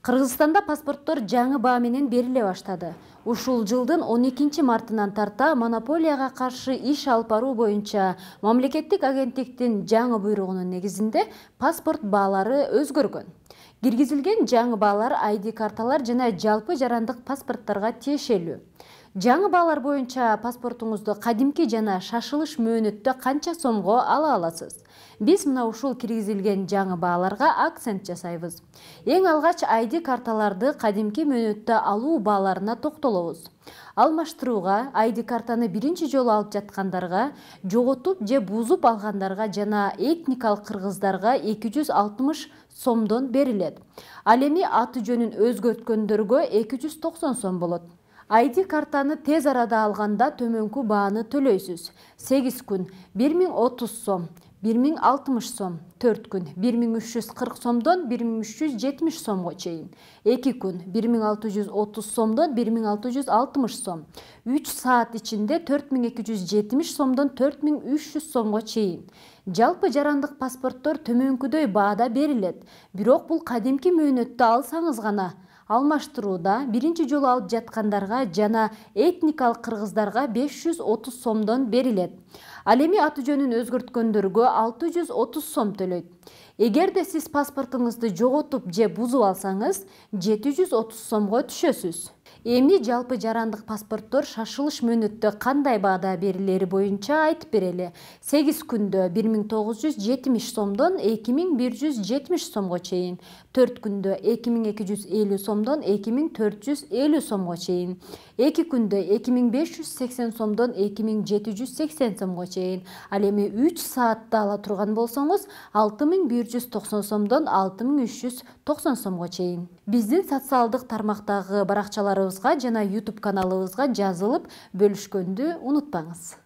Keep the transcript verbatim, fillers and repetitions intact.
Кыргызстанда паспорттор жаңы баа менен бериле баштады. Ушул жылдын он экинчи мартынан тарта монополияга каршы иш алып баруу боюнча мамлекеттик агенттиктин жаңы буйругунун негизинде паспорт баалары өзгөргөн. Киргизилген жаңы баалар ай ди карталар жана жалпы жарандык паспорттторго тиешелүү. Жаңы баалар боюнча паспортуңузду кадимки жана шашылыш мөөнөттө канча сомго ала аласыз? Биз мына ушул киргизилген жаңы бааларга акцент жасайбыз. Эң алгач ай ди карталарды кадимки мөөнөттө алуу бааларына токтолобуз. Алмаштырууга ай ди картаны биринчи жолу алып жаткандарга, жоготуп же бузуп алгандарга жана этникалык кыргыздарга эки жүз алтымыш сомдон берилет. Ал эми аты жөнүн өзгөрткөндөргө эки жүз токсон сом болот. ай ди картаны тез арада алганда төмөнкү бааны төлөйсүз. сегиз күн бир миң отуз сом, бир миң алтымыш сом, төрт күн бир миң үч жүз кырк сомдон бир миң үч жүз жетимиш сомго чейин, эки күн бир миң алты жүз отуз сомдон бир миң алты жүз алтымыш сом, үч саат ичинде төрт миң эки жүз жетимиш сомдон төрт миң үч жүз сомго чейин. Жалпы жарандык паспорттор төмөнкүдөй баада берилет, бирок бул кадимки мөөнөттө алсаңыз гана. Алмаштырууда биринчи жолу алып жаткандарга жана этникалык кыргыздарга беш жүз отуз сомдон берилет. Ал эми аты жөнүн өзгөрткөндөргө алты жүз отуз сом төлөйт. Эгерде сиз паспортуңузду жоготуп же бузуп алсаңыз, жети жүз отуз сомго түшөсүз. Эми жалпы жарандык паспорттор шашылыш мөөнөттө кандай баада берилери боюнча айтып берели. сегиз күндө бир миң тогуз жүз жетимиш сомдон эки миң бир жүз жетимиш сомго чейин, төрт күндө эки миң эки жүз элүү сомдон эки миң төрт жүз элүү сомго чейин, эки күндө эки миң беш жүз сексен сомдон эки миң жети жүз сексен сомго чейин. Ал эми үч саатта ала турган болсоңуз, алты миң бир жүз токсон сомдон алты миң үч жүз токсон сомго чейин. Биздин социалдык тармактагы баракчаларыбызга жана YouTube каналыбызга жазылып бөлүшкөндү унутпаңыз.